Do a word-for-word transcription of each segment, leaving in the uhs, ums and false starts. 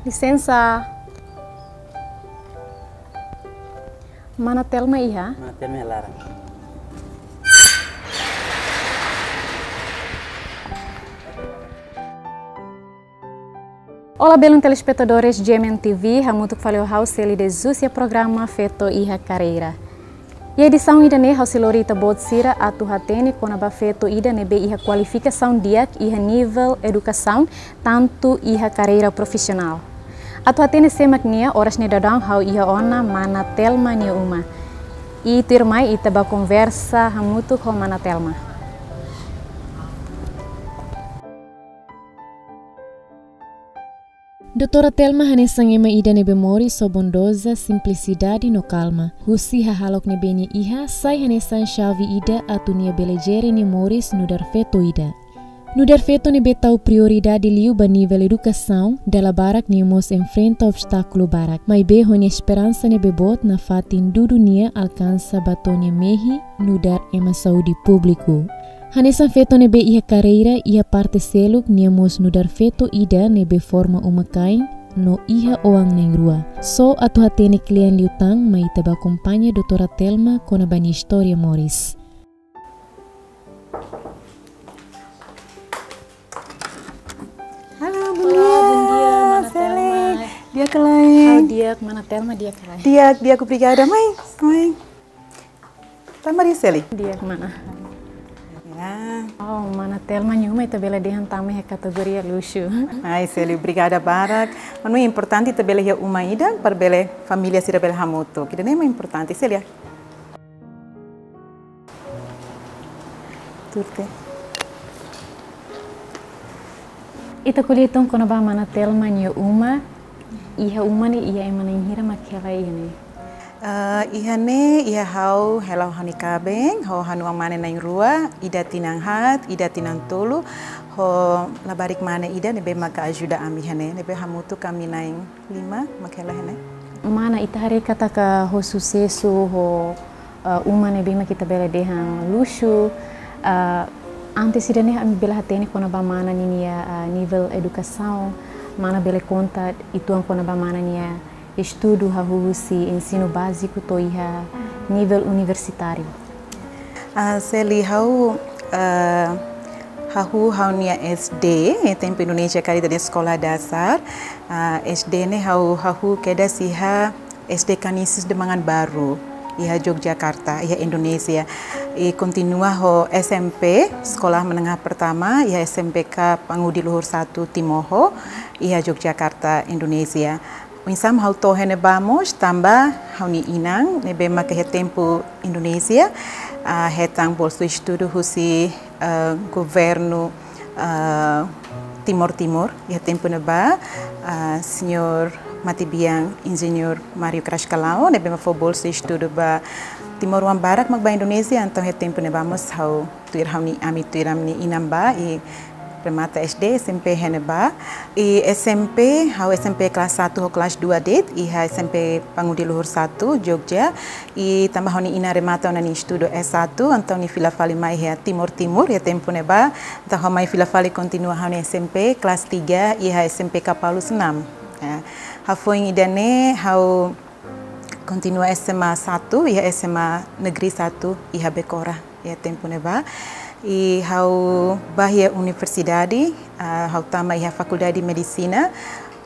Lisensa. Mana Telma iha? Mana Telma iha laran. Olá, belun telespetadores G M N T V, hamutuk fali ho ha'u Seli de Zúcia programa Feto iha Karreira. Iha edisaun ida-ne'e ha'u sei lori ita-boot sira atu hatene kona-ba feto ida ne'ebé iha kualifikasaun di'ak iha nivel edukasaun, tantu iha karreira profisionál. Atu hatene sé mak nia, oras ne'e daudaun ha'u iha ona Mana Telma nia uma. I tuirmai ita bá konversa hamutuk ho Mana Telma. Doutora Telma hanesan ema ida ne'ebé moris ho bondoza, simplisidade no kalma. Husi hahalok ne'ebé nia iha, sai hanesan xave ida atu nia bele jere nia moris nu'udar feto ida. Nu'udar feto ne'ebé tau prioridade liu ba nivel edukasaun, dala barak nia mós enfrenta obstákulu barak. Maibé ho nia esperansa ne'ebé boot nafatin dudu nia alkansa ba to'o nia mehi nu'udar ema saúde públiku. Hanesan feto ne'ebé iha karreira, iha parte seluk nia mós nu'udar feto ida ne'ebé forma uma-kain no iha oan na'in-rua. Só atu hatene kle'an liután, mai ita bá akompaña Doutora Telma kona-ba nia istória moris. Halo, bom dia. Olá, bom dia, Mana Seli Telma. Di'ak ka lae? Ha'u di'ak, Mana Telma di'ak ka lae? Di'ak, di'ak, obrigada, mai. Mai. Tama ri, Seli. Di'ak, Mana. Ya. Oh, Mana Telma nia uma ita bele dehan tama iha kategoria luxu. Ai, Seli, obrigada barak. Manu importante ita bele iha uma ida, para bele família sira bele hamutuk. Ida-ne'e mak importante, Seli, ya. Tuir. Ita ko'alia uitoan kona-ba Mana Telma nia uma, iha uma ne'e iha ema na'in hira mak hela iha ne'e? Ah, iha ne'e, iha ha'u hela ho ha'u-nia kaben, ho ha'u-nia oan-mane na'in-rua, ida tinan haat, ida tinan tolu, ho labarik mane ida ne'ebé maka ajuda ami iha ne'e, ne'ebé hamutuk ami na'in lima mak hela iha ne'e. Mana, ita haree katak ho susesu, ho, eh, uma ne'ebé mak ita bele dehan luxu, eh, antes ida-ne'e ami bele hatene kona-ba Mana ninia, eh, nivel edukasaun, Mana bele konta uitoan kona-ba Mana nia estudu hahú husi ensinu báziku to'o iha nivel universitáriu? Ah, Seli, ha'u, ah, hahú ha'u-nia S D, iha tempu Indonézia karik ita dehan sekolah dasar. Ah, S D ne'e ha'u hahú kedas iha S D Canisius de Manganbaru, iha Yogyakarta, iha Indonézia. I kontinua ho S M P, Sekolah Menengah Pertama, iha S M P K Pangudi Luhur satu Timoho, iha Yogyakarta, Indonézia. Oinsá mak ha'u to'o iha ne'ebá mós tanba ha'u-nia inan, ne'ebé maka iha tempu Indonézia, ah, hetan bolsa estudu husi, ah, governu, ah, Timor Timur, iha tempu ne'ebá, ah, señór mate-bian Enjeñeru Mário Crascalão, ne'ebé mak fó bolsa estudu ba timoroan barak mak bá Indonézia, entaun iha tempu ne'ebá mós ha'u tuir ha'u-nia, ami tuir ami-nia inan bá, i remata S D, S M P iha ne'ebá. I S M P, ha'u S M P kelas satu ho kelas dua de'it, iha S M P Pangudi Luhur satu, Jogja. I tanba ha'u-nia inan remata ona nia estudu S satu, entaun nia fila fali mai iha Timor Timur, iha tempu ne'ebá. Entaun ha'u mai fila fali kontinua ha'u-nia S M P kelas tiga, iha S M P Kapalus enam. Ya. Hafoin ida-ne'e, ha'u kontinua S M A satu, iha S M A Negeri satu, iha Becora, iha tempu ne'ebá. I ha'u bá iha universidade, ah, ha'u tama iha Fakuldade Medisina,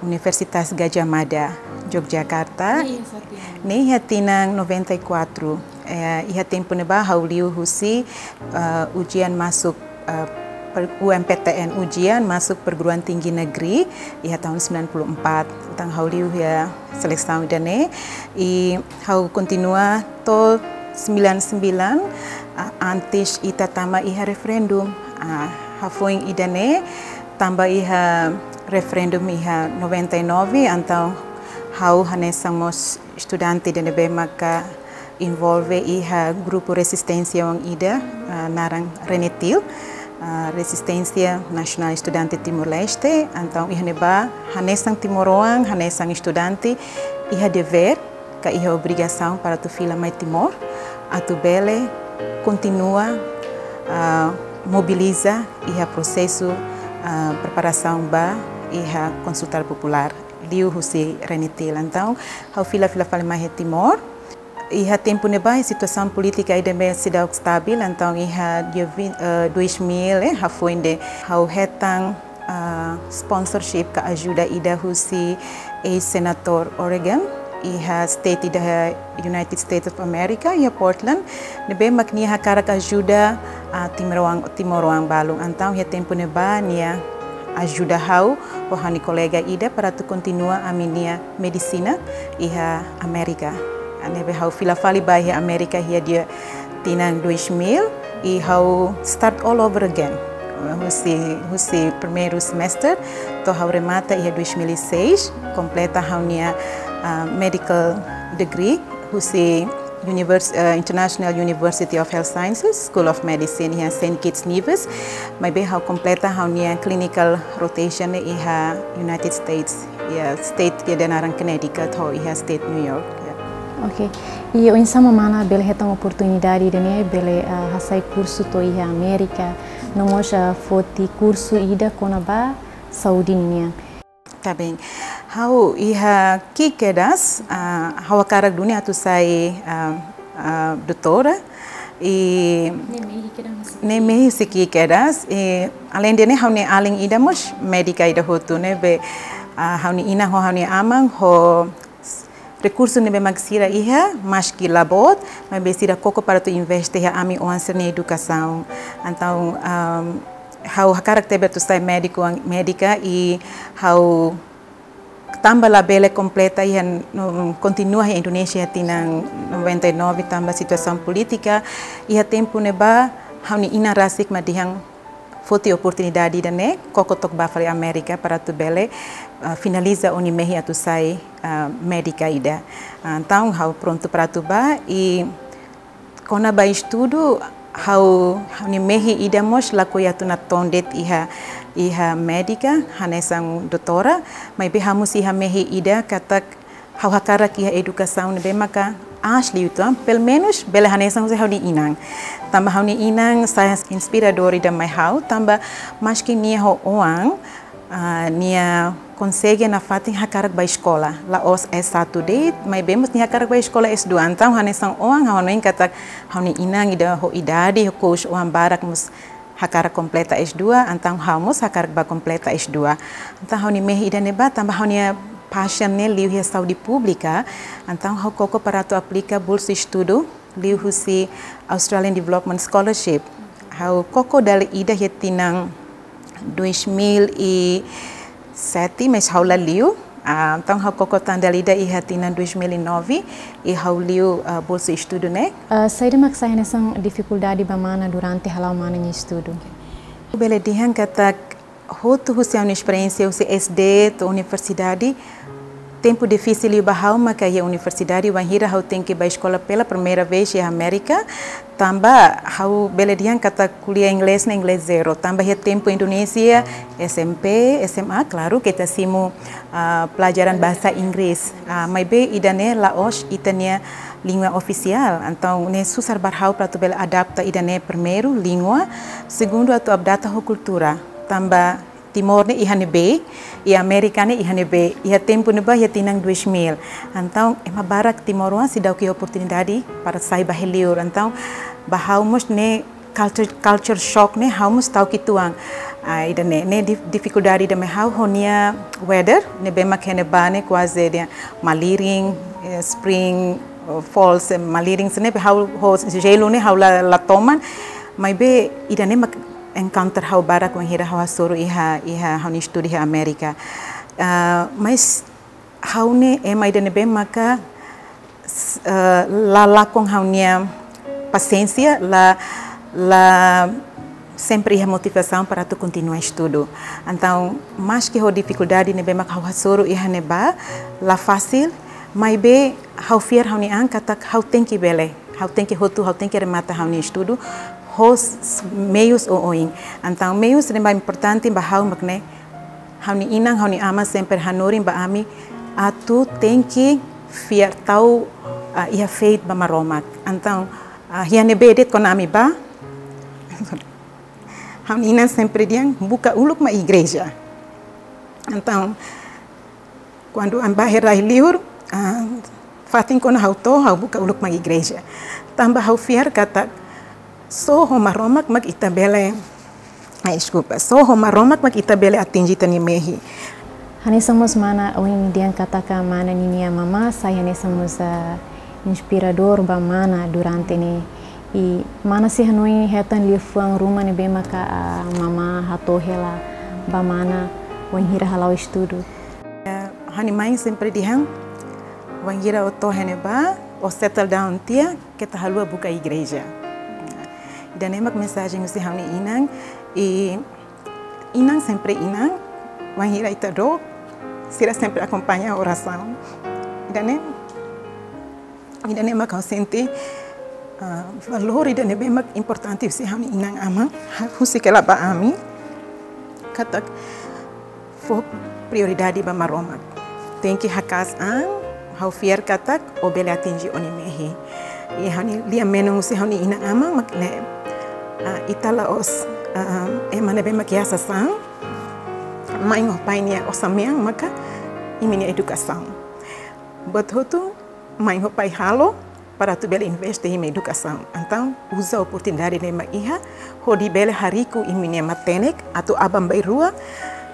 Universitas Gadjah Mada, Yogyakarta. Ne'e iha tinan? Ne'e iha tinan noventa e quatro. Eh, iha tempu ne'ebá ha'u liu husi, ah, ujian masuk, ah, per-, U M P T N, ujian masuk perguruan tinggi negeri, iha tahun sembilan puluh empat. Entaun ha'u liu iha selesaun ida-ne'e, i ha'u kontinua to'o sembilan sembilan, ah, antes ita tama iha referendum. Ah, hafoin ida-ne'e, tanba iha referendum iha noventa e nove, entaun ha'u hanesan mós estudante ida ne'ebé maka envolve iha grupu rezisténsia oan ida, ah, naran RENETIL, ah, Resistência Nacional Estudante Timor-Leste. Entaun iha ne'ebá, hanesan timoroan, hanesan estudante, iha devér, ka iha obrigasaun para atu fila mai Timor, atu bele kontinua, ah, mobiliza iha prosesu, ah, preparasaun ba iha konsulta populár. liu husi RENETIL. Entaun, ha'u fila, fila fali mai iha Timor. Iha tempu ne'ebá, situasaun polítika ida-ne'e seidauk stabil, entaun iha dia vin-, eh, dois mil, eh, hafoin ne'e ha'u hetan, ah, sponsorship ka ajuda ida husi eis-senadór O'Regan, iha state ida iha United States of America, iha Portland, ne'ebé mak nia hakarak ajuda, ah, timoroan, timoroan balun. Entaun iha tempu ne'ebá nia ajuda ha'u ho ha'u-nia kolega ida para atu kontinua ami-nia medisina iha Amérika. Ne'ebé ha'u fila fali ba iha Amérika iha dia tinan dois mil, i ha'u start all over again. Husi, husi primeiru semestre, to'o ha'u remata iha dois mil e seis, kompleta ha'u-nia, ah, medical degree, husi Univers-, eh, International University of Health Sciences, School of Medicine, iha Saint Kitts Nevis. Maibé ha'u kompleta ha'u-nia clinical rotation iha United States, iha state ida naran Connecticut, ho iha state New York, ya. Ok. I oinsá mana bele hetan oportunidade ida-ne'e, bele, ah, hasai kursu to'o iha Amérika, no mós, ah, foti kursu ida kona-ba saúde ninian? Tá bem. Ha'u iha ki'ik kedas, ah, ha'u hakarak duni atu sai, ah, ah, doutora. I ne'e mehi kedas. Ne'e mehi husi ki'ik kedas. I além de ne'e ha'u-nia alin ida mós médika ida hotu ne'ebé, ah, ha'u-nia inan ho ha'u-nia aman ho rekursu ne'ebé mak sira iha, maski la boot, maibé sira koko para atu investe iha ami-oan sira-nia edukasaun. Entaun, ah, ha'u hakarak tebes atu sai médiku, médika, i ha'u tanba labele kompleta iha, no, kontinua iha Indonézia tinan noventa e nove tanba situasaun polítika, iha tempu ne'ebá ha'u-nia inan rasik mak dehan foti oportunidade ida-ne'e, koko took bá fali Amérika para atu bele, ah, finaliza ó-nia mehi atu sai, ah, médika ida. Ah, entaun ha'u prontu para atu bá, i kona-ba estudu, ha'u, ha'u-nia mehi ida mós lakohi atu natoon de'it iha, iha médika, hanesan doutora, maibé ha'u mós iha mehi ida katak ha'u hakarak iha edukasaun ne'ebé maka aas liu uitoan, pelumenus bele hanesan husi ha'u-nia inan. Tanba ha'u-nia inan sai inspiradór ida mai ha'u, tanba maski nia ho oan, ah, nia konsege nafatin hakarak bá eskola. La'ós S satu de'it, maibé mós nia hakarak bá eskola S dua. Entaun hanesan oan ha'u hanoin katak ha'u-nia inan ida ho idade, ho kous oan barak mós hakarak kompleta S dua, entaun ha'u mós hakarak bá kompleta S dua. Entaun ha'u-nia mehi ida-ne'ebá, tanba ha'u-nia passion ne'e liu iha saúde públika, entaun ha'u koko para atu aplika bolsa estudu liu husi Australian Development Scholarship. Ha'u koko dala ida iha tinan dois mil e sete, mas ha'u la liu. Ah, entaun ha'u koko tan dala ida iha tinan dois mil e nove, i ha'u liu, ah, bolsa estudu ne'e. Ah, saida mak sai hanesan difikuldade ba mana durante hala'o mana nia estudu? Bele dehan katak hotu husi ha'u-nia esperiénsia husi S D to'o universidade, tempu difisil liu ba ha'u maka iha universidade, wainhira ha'u tenke bá eskola pela primeira vez iha Amérika, tanba ha'u bele dehan katak ko'alia inglés ne'e inglés zero, tanba iha tempu Indonézia, S M P, S M A, klaru, ke ita simu, ah, pelajaran bahasa Inggris. Ah, maibé ida-ne'e la'ós ita-nia língua ofisiál, entaun ne'e susar ba ha'u para atu bele adapta ida-ne'e, primeiru, língua, segundu, atu adapta ho kultura, tanba Timor ne'e iha ne'ebé, i Amérika ne'e iha ne'ebé, iha tempu ne'ebá iha tinan dois mil. Entaun, ema barak timoroan seidauk iha oportunidade para sai ba li'ur. Entaun, ba ha'u mós ne'e culture, culture shock ne'e ha'u mós ta'uk uitoan. Ah, ida-ne'e, ne'e dif-, difikuldade ida mai ha'u ho nia weather, ne'ebé mak iha ne'ebá ne'e kuaze dehan malirin, eh, spring, eh, falls, eh, malirin, sira-ne'e ha'u ho jelu ne'e ha'u la, la toman, maibé ida-ne'e mak encounter ha'u barak wainhira ha'u hasoru iha, iha ha'u-nia estudu iha Amérika. Ah, mas ha'u ne'e ema ida ne'ebé maka, s-, ah, la lakon ha'u-nia pasiénsia, la, la sempre iha motivasaun para atu kontinua estudu. Entaun, maski ho difikuldade ne'ebé maka ha'u hasoru iha ne'ebá, la fasil, maibé ha'u fiar ha'u-nia an katak ha'u tenke bele, ha'u tenke hotu, ha'u tenke remata ha'u-nia estudu ho s-, s-, meius oioin. Entaun, meius ne'ebé importante ba ha'u mak ne'e, ha'u-nia inan, ha'u-nia aman sempre hanorin ba ami atu tenke fiar, tau, ah, iha faith ba Maromak. Entaun, ah, iha ne'ebé de'it kona ami bá, ha'u-nia inan sempre dehan buka uluk mai igreja. Entaun, Kuandu ami bá iha rai-liur, ah, fatin kona ha'u to'o, ha'u buka uluk mai igreja. Tanba ha'u fiar katak só ho Maromak mak ita bele, ah, deskulpa, só ho Maromak mak ita bele atinje ita-nia mehi. Hanesan mós mana ohin dehan katak mana ninia mamá sai hanesan mós, ah, inspiradór ba mana durante ne'e. I mana sei hanoin hetan liafuan ruma ne'ebé maka, ah, mamá hato'o hela ba mana wainhira hala'o estudu? Eh, ha'u-nia mãe sempre dehan, wainhira ó to'o iha ne'ebá, ó settle down tiha, keta haluha buka igreja. Ida-ne'e mak mensajen husi ha'u-nia inan, i inan sempre inan, wainhira ita dook, sira sempre akompaña orasaun. Ida-ne'e, ida-ne'e mak ha'u sente, ah, valór ida ne'ebé mak importante husi ha'u-nia inan-aman, husik hela ba ami, katak fó prioridade ba Maromak. Tenke haka'as an, ha'u fiar katak ó bele atinje ó-nia mehi. I ha'u-nia lia-menon husi ha'u-nia inan-aman mak ne'e, ah, ita la'ós, ah, ema ne'ebé mak iha sasán, mãe ho pai nia osan-mean maka imi-nia edukasaun. Buat hotu mãe ho pai halo para atu bele investe iha imi-nia edukasaun. Entaun, uza oportunidade ne'ebé mak iha, hodi bele hariku imi-nia matenek, atu aban-bainrua,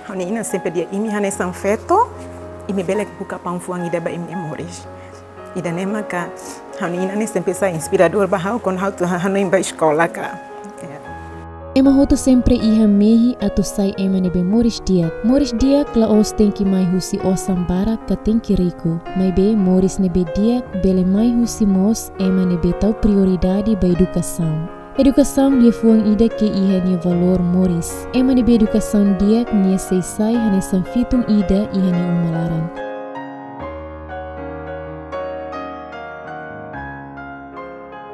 ha'u-nia inan sempre dehan imi hanesan feto, imi bele buka paun-fuan ida ba imi-nia moris. Ida-ne'e maka, ha'u-nia inan ne'e sempre sai inspiradór ba ha'u, kuandu ha'u atu hanoin ba eskola ka. Ya. Ema hotu sempre iha mehi atu sai ema ne'ebé moris di'ak. Moris di'ak la'ós tenke mai husi osan barak ka tenke riku. Maibé moris ne'ebé di'ak bele mai husi mós ema ne'ebé tau prioridade ba edukasaun. Edukasaun liafuan ida ke iha nia valór moris. Ema ne'ebé edukasaun di'ak nia sei sai hanesan fitun ida iha nia uma laran.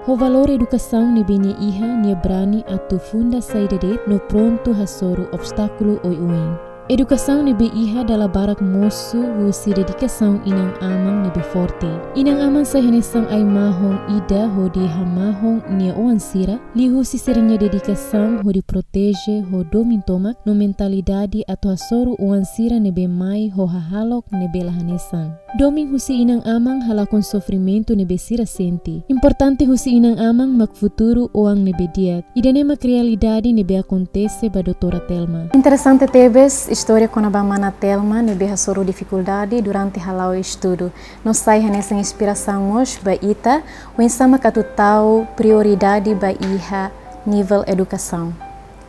Ho valór edukasaun ne'ebé nia iha, nia brani atu funda saida de'it no prontu hasoru obstákulu oioin. Edukasaun ne'ebé iha dala barak mosu husi dedikasaun inan-aman ne'ebé forte. Inan-aman sai hanesan ai-mahon ida hodi hamahon nia oan sira, liuhusi sira-nia dedikasaun hodi proteje ho domin tomak no mentalidade atu hasoru oan sira ne'ebé mai ho hahalok ne'ebé la hanesan. Domin husi inan-aman halakon sofrimentu ne'ebé sira sente. Importante husi inan-aman mak futuru oan ne'ebé di'ak. Ida-ne'e mak realidade ne'ebé akontese ba doutora Telma. Interesante tebes istória kona-ba mana Telma ne'ebé hasoru difikuldade durante hala'o estudu. No sai hanesan inspirasaun mós ba ita, oinsá mak atu tau prioridade ba iha nivel edukasaun.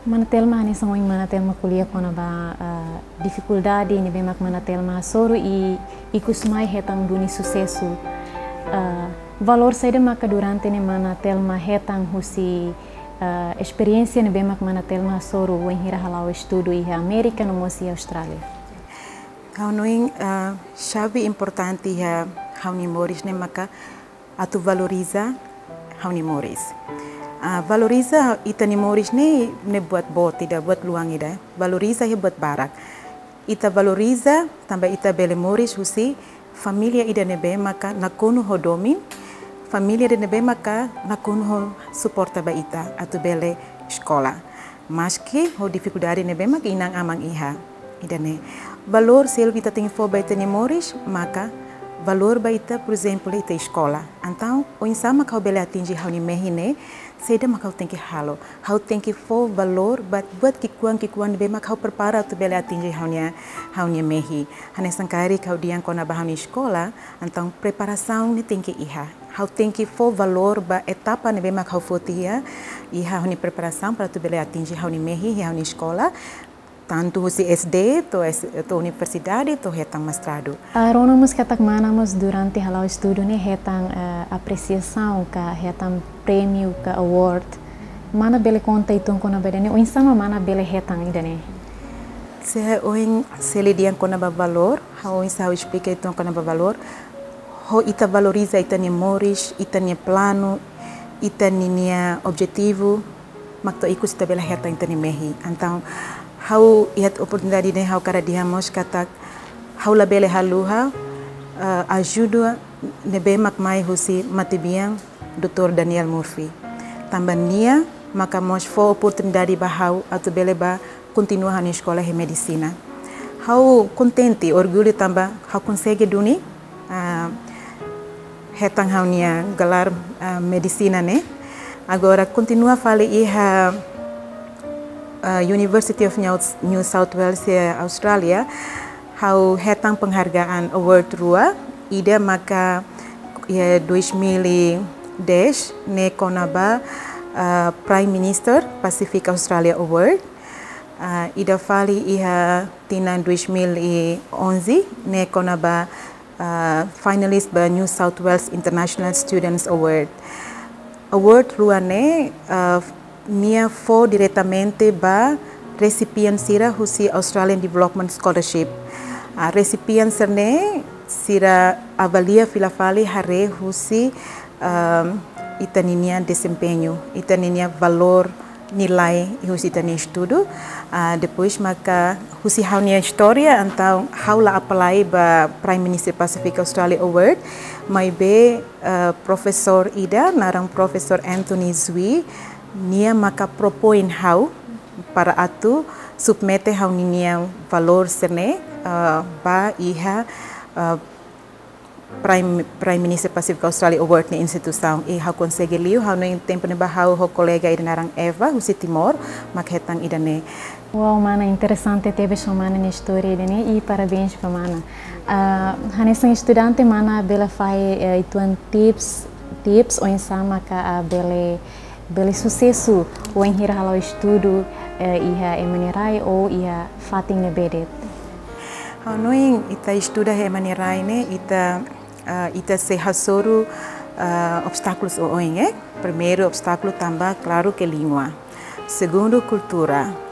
Mana Telma, hanesan ohin mana Telma ko'alia kona-ba, ah, difikuldade ne'ebé mak mana Telma hasoru i ikus mai hetan duni susesu. Ah, valór saida maka durante ne'e mana Telma hetan husi, ah, esperiénsia ne'ebé mak mana Telma hasoru wainhira hala'o estudu iha Amérika no mós iha Austrália? Ha'u hanoin, ah, xave importante iha ha'u-nia moris ne'e maka atu valoriza ha'u-nia moris. Ah, valoriza ita-nia moris ne'e, ne'e buat boot ida, buat luan ida. Valoriza iha buat barak. Ita valoriza tanba ita bele moris husi família ida ne'ebé maka nakonu ho domin, família ida ne'ebé maka nakonu ho suporta ba ita atu bele eskola. Maski ho difikuldade ne'ebé mak inan-aman iha. Ida-ne'e valór seluk ita tenke fó ba ita-nia moris, maka valór ba ita, por ezemplu, ita eskola. Entaun, oinsá mak ha'u bele atinje ha'u-nia mehi ne'e, saida mak ha'u tenke halo. Ha'u tenke fó valór ba buat ki'ikoan-ki'ikoan ne'ebé mak ha'u prepara atu bele atinje ha'u-nia, ha'u-nia mehi. Hanesan karik ha'u dehan kona-ba ha'u-nia eskola, entaun preparasaun ne'e tenke iha. Ha'u tenke fó valór ba etapa ne'ebé mak ha'u foti iha, iha ha'u-nia preparasaun para atu bele atinje ha'u-nia mehi, iha ha'u-nia eskola, tantu husi S D, to'o S-, to'o universidade, to'o hetan mestradu. Ah, rona mós katak mana mós durante hala'o estudu ne'e hetan, eh, apresiasaun ka hetan prémiu ka award. Mana bele konta uitoan kona-ba ida-ne'e, oinsá mak mana bele hetan ida-ne'e? Se ohin Seli dehan kona-ba valór, ha'u oinsá ha'u esplika uitoan kona-ba valór. Ho ita valoriza ita-nia moris, ita-nia planu, ita ninia objetivu, mak to'o ikus ita bele hetan ita-nia mehi. Entaun, ha'u iha oportunidade ne'e ha'u hakarak dehan mós katak ha'u labele haluha, eh, ajuda ne'ebé mak mai husi matebian doutór Daniel Murphy. Tanba nia maka mós fó oportunidade ba ha'u atu bele bá kontinua ha'u-nia eskola iha medisina. Ha'u kontente, orgullu tanba ha'u konsege duni, ah, hetan ha'u-nia gelar, ah, medisina ne'e. Agora kontinua fali iha, ah, University of New, New South Wales, eh, Austrália, ha'u hetan penghargaan award rua, ida maka, eh, dois mil e dez ne'e kona-ba, ah, Prime Minister Pacific Australia Award. Ah, ida fali iha tinan dois mil e onze ne'e kona-ba, ah, finalist ba New South Wales International Students Award. Award rua ne'e, ah, nia fó diretamente ba recipient sira husi Australian Development Scholarship. Ah, recipient sira-ne'e sira avalia fila fali haree husi, ah, ita-nia desempeñu, ita-nia valór, nilai husi ita-nia estudu. Ah, depois maka husi ha'u-nia istória, entaun ha'u la apply ba Prime Minister Pacific Australia Award, maibé, ah, profesór ida, naran Profesór Anthony Zui, nia maka propoin ha'u para atu submete ha'u-nia valór sira-ne'e, ah, ba iha, ah, Prime, Prime Minister Pacific Australia Award nia instituisaun, i ha'u konsege liu, ha'u-nia tempu ne'ebá ha'u ho kolega ida naran Eva, husi Timor, mak hetan ida-ne'e. Wow, mana, interesante tebes ho mana nia istória ida-ne'e, i parabéns ba mana. Ah, hanesan estudante mana bele fahe, eh, uitoan tips, tips oinsá maka, ah, bele, bele susesu wainhira hala'o estudu, eh, iha ema nia rai ou iha fatin ne'ebé de'it. Ha'u hanoin ita estuda iha ema nia rai ne'e, ita, ah, ita sei hasoru, ah, obstákulus oioin, eh. Primeiru obstákulu tanba, klaru ke língua. Segundu, kultura.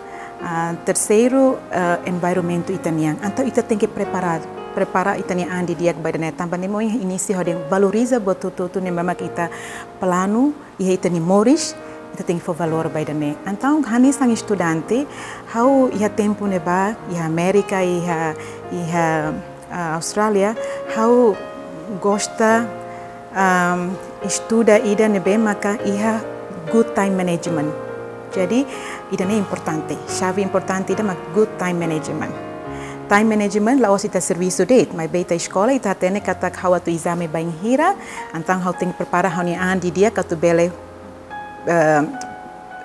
Ah, terseiru, ah, environmentu ita-nian. Entaun ita tenke prepara, prepara ita-nia an didi'ak ba ida-ne'e. Tanba ne'e mak inísiu ha'u dehan valoriza buat hotu-hotu ne'ebé mak ita planu iha ita-nia moris, ita tenke fó valór ba ida-ne'e. Entaun hanesan estudante, ha'u iha tempu ne'ebá, iha Amérika, iha, iha, ah, Austrália, ha'u gosta, am, estuda ida ne'ebé maka iha good time management. Jadi, ida-ne'e importante, xave importante ida mak good time management. Time management la'ós ita servisu de'it, maibé ita eskola, ita hatene katak ha'u atu ezame bainhira, entaun ha'u tenke prepara ha'u-nia an didi'ak atu bele, eh,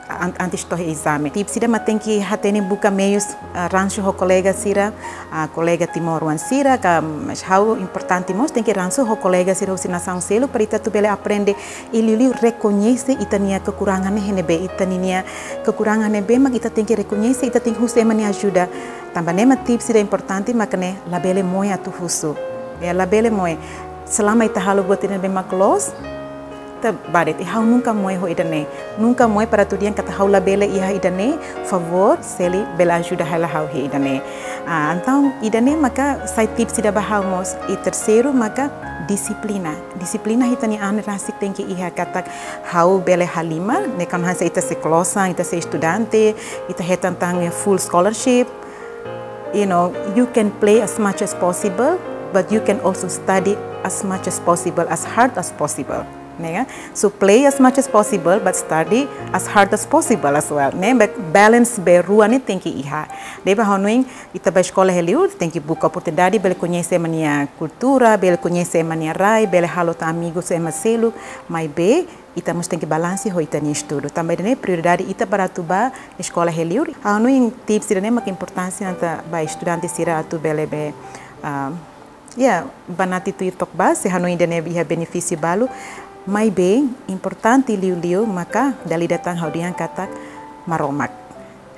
an-, antes to'o ezame. Tips ida mak tenke hatene buka meius, eh, ransu ho kolega sira, ah, kolega timoroan sira, ka, mas ha'u importante mós tenke ransu ho kolega sira husi nasaun seluk para ita atu bele aprende i liuliu rekoñese ita-nia kekurangan ne'e iha ne'ebé, ita-nia kekurangan ne'ebé mak ita tenke rekoñese, ita tenke husu ema nia ajuda. Tanba ne'e mak tips ida importante mak ne'e labele moe atu husu. Ya, labele moe. Selama ita halo buat ida ne'ebé mak loos, ita bá de'it, i ha'u nunka moe ho ida-ne'e. Nunka moe para atu dehan katak ha'u labele iha ida-ne'e, favór, se bele ajuda hela ha'u iha ida-ne'e. Ah, entaun, ida-ne'e maka sai tips ida ba ha'u mós. I terseiru maka dixiplina. Dixiplina iha ita-nia an rasik tenke iha katak ha'u bele halimar, ne'e kan hanesan ita sei klosan, ita sei estudante, ita hetan tan full scholarship. You know, you can play as much as possible, but you can also study as much as possible, as hard as possible. Ne'e ka? So play as much as possible, but study as hard as possible as well. Ne'e, ba-, balance ba rua ne'e tenke iha. Ne'ebé ha'u hanoin, ita bá eskola iha li'ur, tenke buka oportunidade, bele koñese ema nia kultura, bele koñese ema nia rai, bele halo tan amigus ema seluk, maibé, ita mós tenke balanse ho ita-nia estudu. Tanba ida-ne'e prioridade ita para atu bá eskola iha li'ur. Ha'u hanoin tips ida-ne'e mak importante atu ba estudante sira atu bele be, ah, ya, banati tuir took ba, se hanoin ida-ne'e iha benefísiu balu. Maibé, importante liuliu maka dala ida tan ha'u dehan katak Maromak.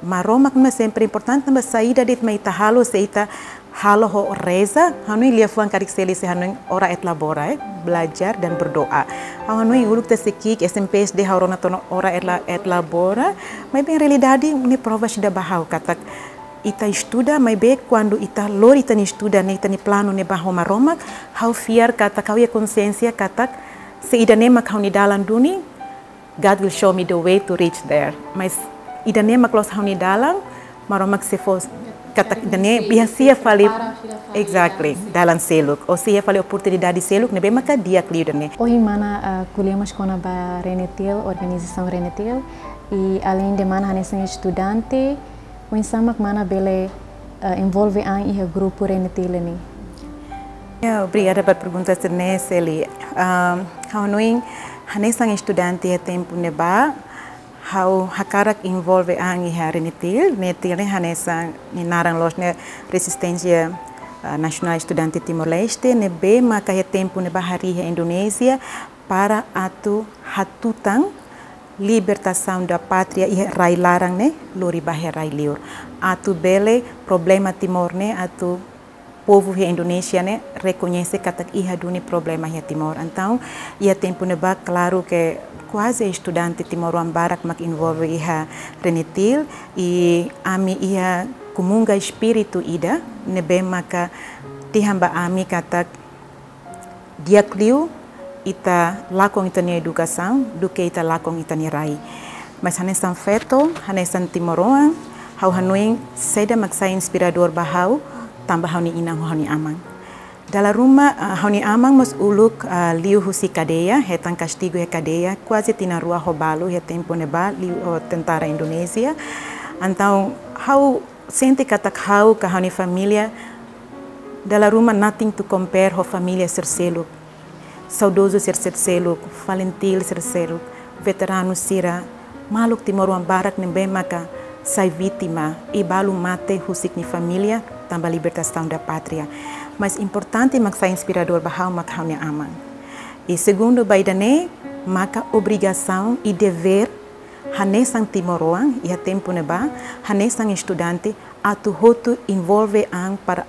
Maromak ne'e sempre importante, tanba saida de'it mak ita halo, se ita halo ho reza, ha'u hanoin liafuan karik seli se ha'u hanoin ora et labora, eh, belajar dan berdoa. Ha'u hanoin uluk ita sei ki'ik S M P S D ha'u rona tiha ona ora et la-, et labora, maibé realidade ne'e prova ida ba ha'u katak ita estuda, maibé kuandu ita lori ita-nia estuda ne'e, ita-nia planu ne'e ba ho Maromak, ha'u fiar katak ha'u iha konsiénsia katak se ida-ne'e mak ha'u-nia dalan duni, God will show me the way to reach there. Mas ida-ne'e mak loos ha'u-nia dalan, Maromak sei fó katak ida-ne'e, iha, sei fó fali, prepara fila fali, exactly, dalan seluk. Dalan seluk. Ou sei iha fali oportunidade seluk, ne'ebé maka di'ak liu ida-ne'e. Ohin mana, ah, ko'alia mós kona-ba RENETIL, organizasaun RENETIL, i além de mana hanesan estudante, oinsá mak mana bele eh, envolve an iha grupu RENETIL ne'e? Ya, obrigada ba pergunta sira-ne'e, Seli. Ah, ha'u hanoin, hanesan estudante iha tempu ne'ebá, ha'u hakarak envolve an iha RENETIL. RENETIL ne'e hanesan nia naran loos ne'e Resistência, ah, Nasionál Estudante Timor-Leste, ne'ebé maka iha tempu ne'ebá harii iha Indonézia para atu hatutan libertasaun da pátria iha rai laran ne'e lori ba iha rai liur. Atu bele problema Timor ne'e, atu povu iha Indonézia ne'e rekoñese katak iha duni problema iha Timor. Entaun, iha tempu ne'ebá, klaru ke kuaze estudante timoroan barak mak envolve iha RENETIL, i ami iha komunga espíritu ida ne'ebé maka dehan ba ami katak di'ak liu ita lakon ita-nia edukasaun duké ita lakon ita-nia rai. Mas hanesan feto, hanesan timoroan, ha'u hanoin saida mak sai inspiradór ba ha'u, tanba ha'u-nia inan ho ha'u-nia aman. Dala ruma, ah, ha'u-nia aman mós uluk, ah, liu husi kadeia, hetan kastigu iha kadeia, kuaze tinan rua ho balu iha tempu ne'ebá, liu ho tentara Indonézia. Entaun, ha'u sente katak ha'u ka ha'u-nia família, dala ruma nothing to compare ho família sira seluk. Saudozu sira seluk, FALINTIL sira seluk, veteranu sira, maluk timoroan barak ne'ebé maka sai vítima, i balu mate husik nia família, tanba libertasaun da pátria. Mas importante mak sai inspiradór ba ha'u mak ha'u-nia aman. I segundu ba ida-ne'e, maka obrigasaun i devér hanesan timoroan, iha tempu ne'ebá, hanesan estudante, atu hotu envolve an para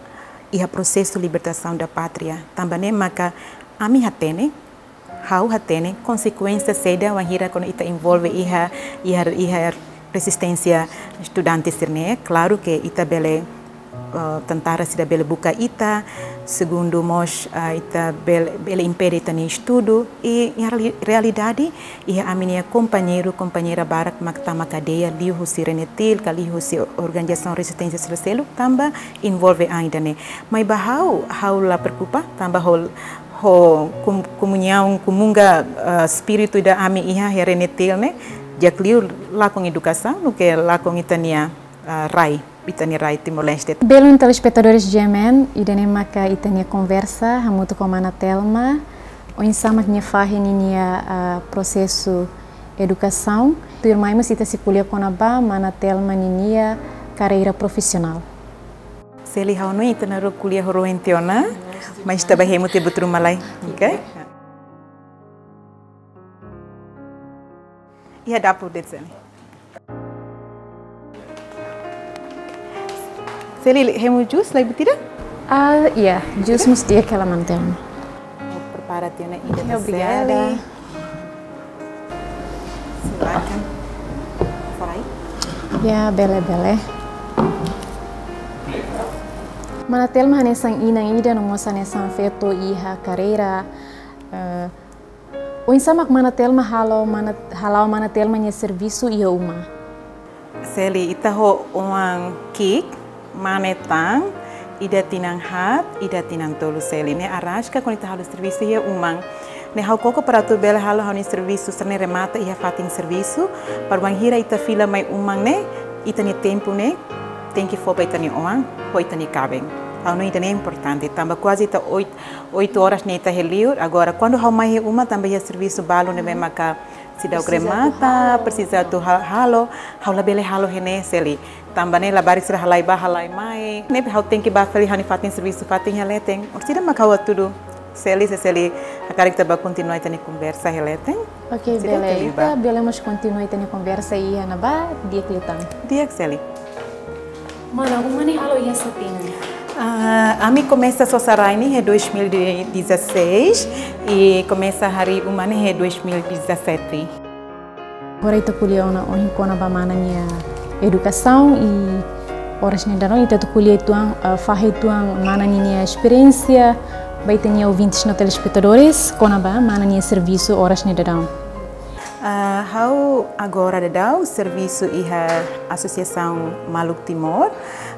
iha prosesu libertasaun da pátria. Tanba ne'e maka ami hatene, ha'u hatene, konsekuénsia saida wainhira kuandu ita envolve iha, iha, iha rezisténsia estudante sira-ne'e. Klaru ke ita bele, eh, tentara sira bele buka ita, segundu mós, eh, ita bele, bele impede ita-nia estudu, i iha reali-, realidade, iha ami-nia kompañeiru, kompañeira barak mak tama kadeia, liu husi RENETIL, ka liu husi organizasaun rezisténsia sira seluk, tanba envolve an ida-ne'e. Maibé ha'u, ha'u la preokupa, tanba ho, ho kom-, komuñaun, komunga, eh, espíritu ida ami iha iha RENETIL ne'e, di'ak liu lakon edukasaun, duké lakon ita-nia, eh, rai, ita-nia rai Timor-Leste. Belun telespetadores G M N, ida-ne'e maka ita-nia konversa, hamutuk ho mana Telma, oinsá mak nia fahe ninia, ah, prosesu edukasaun. Tuirmai mós ita sei ko'alia kona-ba mana Telma ninia karreira profisionál. Seli, ha'u hanoin ita na'in-rua ko'alia ho rohan tiha ona, mas ita bá hemu tiha buat ruma lai, oke? Iha dapur de'it, Seli. Seli, hemu jus lai buat ida? Ah, ya, jus mós di'ak hela mana Telma. Ha'u prepara tiha ona ida. Ya, ba obrigada. Seli. Silakan. Sai. Ya, bele, bele. Mana Telma hanesan inan ida no mós hanesan feto iha karreira, eh, oinsá mak mana Telma halo, mana, hala'o mana Telma nia servisu iha uma? Seli, ita ho oan ki'ik, mane tan, ida tinan haat, ida tinan tolu, Seli. Ne'e araska kuandu ita halo servisu iha uma. Ne'e ha'u koko para atu bele halo ha'u-nia servisu sira-ne'e remata iha fatin servisu, para wainhira ita fila mai uma ne'e, ita-nia tempu ne'e tenke fó ba ita-nia oan, ho ita-nia kaben. Ha'u hanoin ida-ne'e importante, tanba kuaze ita oit-, oitu oras ne'e ita iha liur. Agora, kuandu ha'u mai iha uma, tanba iha servisu balu ne'ebé maka seidauk remata, presiza atu ha-, halo, ha'u labele halo iha ne'e, Seli. Tanba ne'e labarik sira halai bá, halai mai. Ne'ebé ha'u tenke bá fali ha'u-nia fatin servisu, fatin iha leten. Orsida mak ha'u hatudu, Seli, se Seli hakarak ita bá kontinua ita-nia konversa iha leten. Oke, bele. Ita bele mós kontinua ita-nia konversa iha ne'ebá, di'ak liután. Di'ak, Seli. Mana, uma ne'e halo iha saida tinan? Ah, ami komesa sosa rai ne'e iha dois mil e dezasseis, i komesa harii uma ne'e iha dois mil e dezassete. Agora ita ko'alia ona ohin kona-ba mana nia edukasaun, i oras ne'e daudaun ita atu ko'alia uitoan, ah, fahe uitoan mana ninia esperiénsia ba ita-nia ouvintes no telespetadores kona-ba mana nia servisu oras ne'e daudaun. Ah, ha'u agora daudaun servisu iha Asosiasaun Maluk Timor,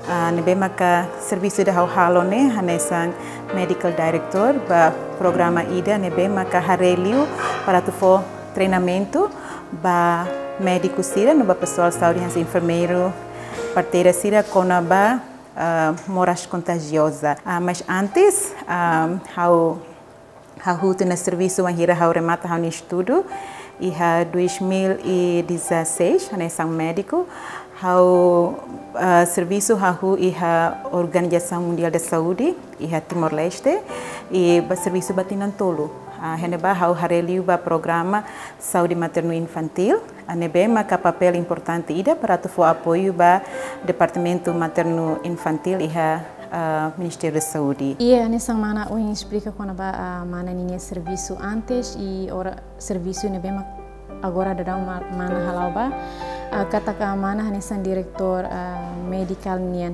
ah, ne'ebé maka servisu ida ha'u halo ne'e hanesan medical director ba programa ida ne'ebé maka haree liu para atu fó treinamentu ba médiku sira no ba pesoál saúde hanesan enfermeiru, parteira sira kona-ba ah, moras kontajioza. Ah, mas antes, ah, ha'u, ha'u hotu ona servisu wainhira ha'u remata ha'u-nia estudu iha dois mil e dezasseis, hanesan médiku. Ha'u, ah, servisu hahú iha Organização Mundial da Saúde, iha Timor-Leste, i bá servisu ba tinan tolu. Ah, iha ne'ebá ha'u haree liu ba programa saúde maternu infantil, ah, ne'ebé maka papél importante ida para atu fó apoiu ba Departamentu Maternu Infantil iha, ah, Ministériu da Saúde. Iha, hanesan mana ohin esplika kona-ba, ah, mana ninia servisu antes i ora servisu ne'ebé mak agora daudaun ma-, mana hala'o ba, ah, katak mana hanesan diretór, ah, medikál nian.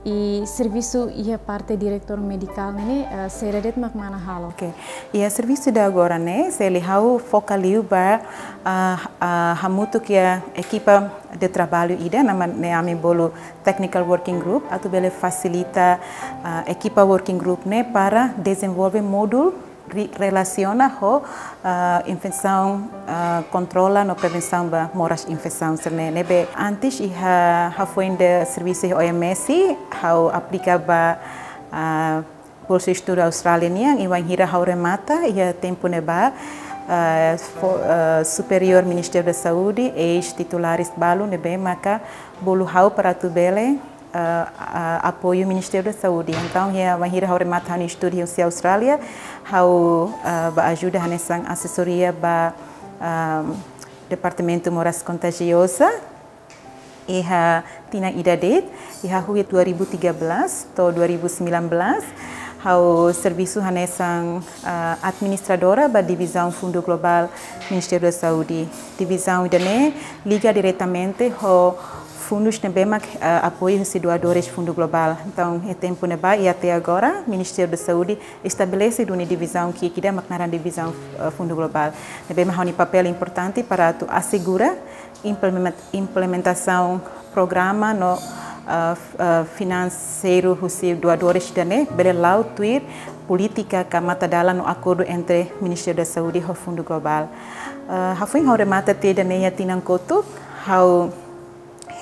I servisu iha parte diretór medikál ne'e, ah, saida de'it mak mana halo? Oke. Iha servisu ida agora ne'e, se liu ha'u foka liu ba, ah, ah, hamutuk iha ekipa de traballu ida, naran ne'e ami bolu Technical Working Group, atu bele fasilita, ah, ekipa Working Group ne'e para dezenvolve módulu ri-, relasiona ho, ah, infesaun, ah, kontrola no prevensaun ba moras infesaun sira-ne'e. Ne'ebé antes iha, hafoin de servisu iha O M S, ha'u aplika ba, ah, bolsa estudu Austrália nian, i wainhira ha'u remata iha tempu ne'ebá, ah, fo-, ah, superiór Ministériu da Saúde, eis-titulares balu ne'ebé maka bolu ha'u para atu bele, ah, ah, apoiu Ministériu da Saúde. Entaun, iha wainhira ha'u remata ha'u-nia estudu husi Austrália, ha'u, ah, bá ajuda hanesan asesoria ba, ah, Departamentu Moras Kontajioza iha tinan ida de'it, iha hahú iha dua ribu tiga belas to'o dua ribu sembilan belas, ha'u servisu hanesan, ah, administradora ba Divizaun Fundu Globál Ministériu da Saúde. Divizaun ida-ne'e liga diretamente ho fundus ne'ebé mak, ah, apoiu husi doadores Fundu Globál. Entaun, iha tempu ne'ebá i até agora, Ministériu da Saúde estabelese duni divizaun ki'ik ida mak naran Divizaun, ah, Fundu Globál. Ne'ebé mak ha'u-nia papél importante para atu asegura implemen-, implementasaun programa no, ah, f-, ah, finanseiru husi doadores ida-ne'e bele la'o tuir polítika ka matadalan no akordu entre Ministériu da Saúde ho Fundu Globál. Ah, hafoin ha'u remata tiha ida-ne'e iha tinan kotuk, ha'u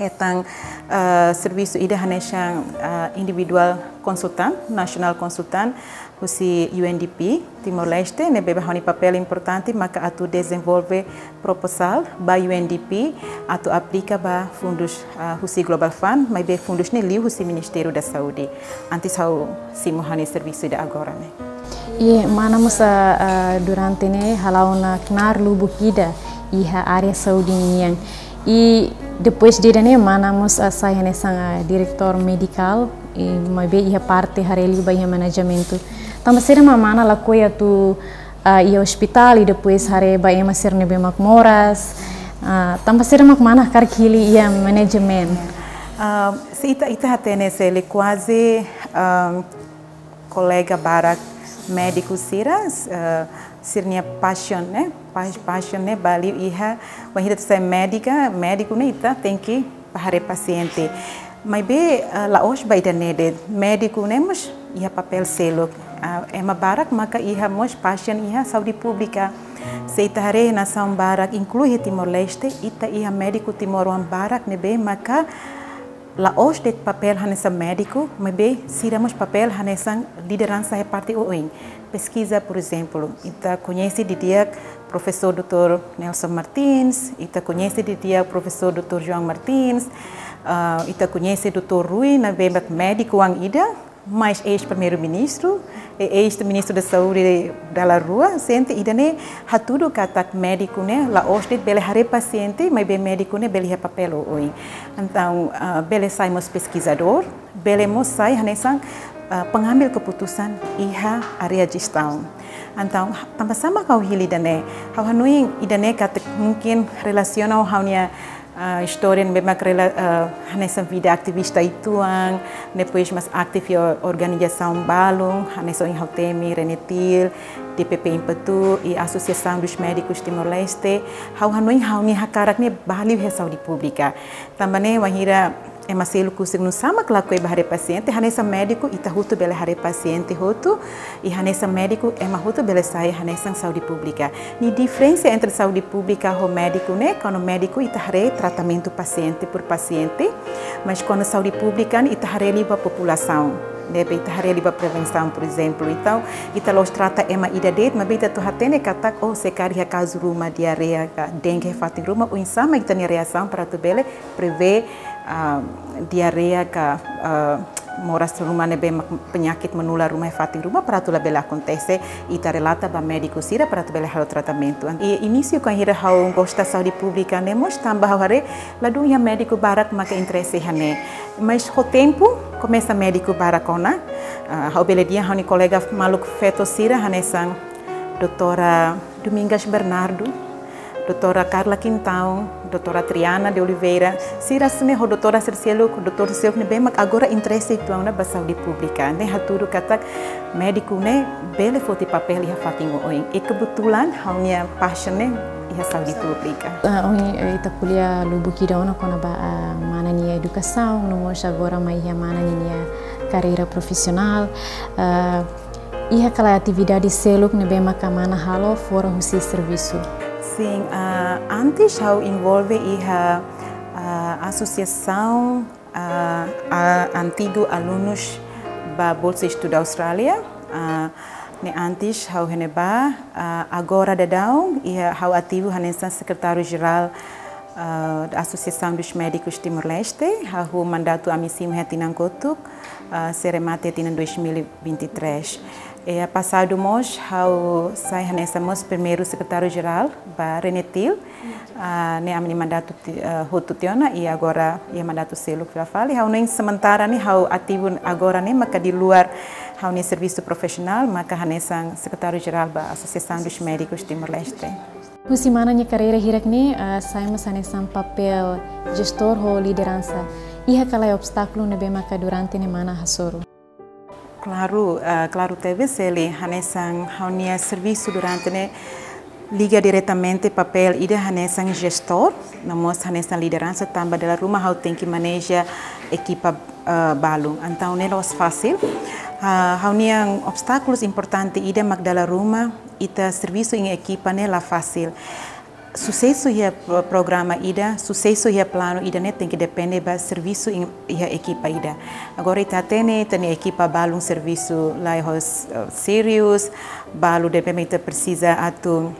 hetan, ah, servisu ida hanesan, ah, individuál konsultan, nasionál konsultan, husi U N D P Timor-Leste, ne'ebé ha'u-nia papél importante maka atu dezenvolve propozál ba U N D P atu aplika ba fundus, ah, husi Global Fund, maibé fundus ne'e liu husi Ministériu da Saúde. Antes ha'u simu ha'u-nia servisu ida agora ne'e. I mana mós, ah, ah, durante ne'e hala'o ona knaar lubuk ida iha área saúde nian. I depois de ida-ne'e mana mós, ah, sai hanesan, ah, diretór medikál, i maibé iha parte haree liu ba iha manejamentu. Tanba saida mak mana lakohi atu, ah, iha ospitál i depois haree ba ema sira ne'ebé mak moras? Ah, tanba saida mak mana hakarak hili iha management? Ah, se ita, ita hatene se liu kuaze, ah, kolega barak médiku sira, eh, sira-nia paixaun, ne'e? Pa-, paixaun ne'e bá liu iha, wainhira ita sai médika, médiku ne'e ita tenke bá haree pasiente. Maibé, eh, la'ós ba ida-ne'e de'it, médiku ne'e mós iha papél seluk. Ah, ema barak maka iha mós paixaun iha saúde públika. Se ita haree nasaun barak, inklui Timor-Leste, ita iha médiku timoroan barak ne'ebé maka la'ós de'it papél hanesan médiku, maibé sira mós papél hanesan lideransa iha parte oioin. Peskiza, por ezemplu, ita koñese didi'ak Profesór doutór Nelson Martins, ita koñese didi'ak Profesór doutór João Martins, ah, ita koñese doutór Rui, ne'ebé mak médiku oan ida, mas eis-primeiru-ministru, e eis-ministru da Saúde dala rua, sente ida-ne'e hatudu katak médiku ne'e la'ós de'it bele haree pasiente, maibé médiku ne'e bele iha papél oioin. Entaun, ah, bele sai mós peskizadór, bele mós sai hanesan, ah, pengambil keputusan iha área jestaun. Entaun, tanba sá mak ha'u hili ida-ne'e? Ha'u hanoin ida-ne'e katak mungkin relasiona ho ha'u-nia, ah, istória ne'ebé mak rela-, ah, hanesan vida ativista uitoan, depois mós ativu iha organizasaun balun, hanesan ohin ha'u temi, Renetil, D P P Impatu, i Associação dos Médicos Timor-Leste. Ha'u hanoin ha'u-nia hakarak ne'e bá liu iha saúde públika. Tanba ne'e wainhira ema seluk husik nusá mak lakohi bá haree pasiente, hanesan médiku ita hotu bele haree pasiente hotu, i hanesan médiku ema hotu bele sai hanesan saúde públika. Nia diferensa entre saúde públika ho médiku ne'e, kuandu médiku ita haree tratamentu pasiente por pasiente, mas kuandu saúde públika ne'e ita haree liu ba populasaun. Ne'ebé ita haree liu ba prevensaun, por ezemplu. Entaun, ita la'ós trata ema ida de'it, maibé ita atu hatene katak, oh, se karik iha kazu ruma diarreia ka dengue iha fatin ruma, oinsá mak ita-nia reasaun para atu bele prevee, ah, diarreia ka, ah, moras ruma ne'ebé mak penyakit menular ruma iha fatin ruma para atu labele akontese, ita relata ba médiku sira para atu bele halo tratamentu. I inísiu kuandu ha'u gosta saúde públika ne'e mós tanba ha'u haree ladún iha médiku barak maka interese iha ne'e. Mas ho tempu, komesa médiku barak ona. Ah, ha'u bele dehan ha'u-nia kolega maluk feto sira hanesan doutora Domingas Bernardo, doutora Carla Quintão, doutora Triana de Oliveira, sira seluk ho doutora sira seluk, doutór sira seluk ne'ebé mak agora interese uitoan ona ba saúde públika. Ne'e hatudu katak médiku ne'e bele foti papél iha fatin oioin. I kebetulan ha'u-nia paixaun ne'e iha saúde públika. Ah, ohin, eh, ita ko'alia lubuk ida ona kona-ba, ah, mana nia edukasaun, no mós agora mai iha mana nia karreira profisionál. Ah, iha ka lae atividade seluk ne'ebé maka mana halo fora husi servisu? Sin, ah, antes ha'u envolve iha, ah, asosiasaun, ah, ah, antigu alunus ba Bolsa Estudu Austrália. Ah, ne'e antes ha'u iha ne'ebá, ah, agora daudaun iha ha'u ativu hanesan sekretáriu jerál, ah, da Associação dos Médicos Timor-Leste, hahú mandatu ami simu iha tinan kotuk, ah, sei remata tinan dois mil e vinte e três. I pasadu mós ha'u sai hanesan mós primeiru sekretáriu jerál ba RENETIL, ah, ne'e ami-nia mandatu ti-, ah, hotu tiha ona, i agora iha mandatu seluk fila fali. Ha'u ne'e sementara ne'e ha'u ativu agora ne'e maka di luar ha'u-nia servisu profisionál, maka hanesan sekretáriu jerál ba Associação dos Médicos Timor-Leste. Husi mana nia karreira hirak ne'e, ah, sai mós hanesan papél jestór ho lideransa. Iha ka lae obstákulu ne'ebé maka durante ne'e mana hasoru? Klaru, ah, klaru tebes, Seli, hanesan ha'u-nia servisu durante ne'e liga diretamente papél ida hanesan jestór, no mós hanesan lideransa tanba dala ruma ha'u tenke maneja ekipa, ah, balun. Entaun ne'e la'ós fasil. Ah, ha'u-nia obstákulus importante ida mak dala ruma ita servisu iha ekipa ne'e la fasil. Susesu iha p-, programa ida, susesu iha planu ida ne'e tenke depende ba servisu iha, iha ekipa ida. Agora ita hatene, ita-nia ekipa balun servisu la'ós, eh, serius, balu ne'ebé mak ita presiza atu,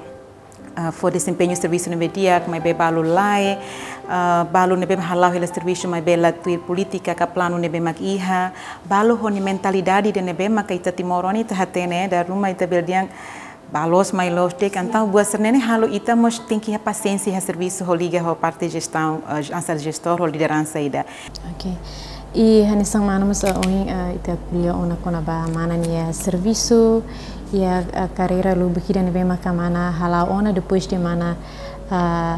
eh, fó desempeñu servisu ne'ebé di'ak, maibé balu la'e, eh, balu ne'ebé hala'o hela servisu maibé la tuir polítika ka planu ne'ebé mak iha, balu ho nia mentalidade ida ne'ebé maka ita timoroan ita hatene, dala ruma ita bele dehan ba loos mai loos de'it, entaun buat sira-ne'e halo ita mós tenke iha pasiénsia iha servisu ho liga ho parte jestaun, eh, hanesan jestór ho lideransa ida. Ok. I hanesan mana mós, eh, ohin, eh, ita ko'alia ona kona-ba mana nia servisu, iha, eh, karreira lubuk ida ne'ebé maka mana hala'o ona depois de mana, eh,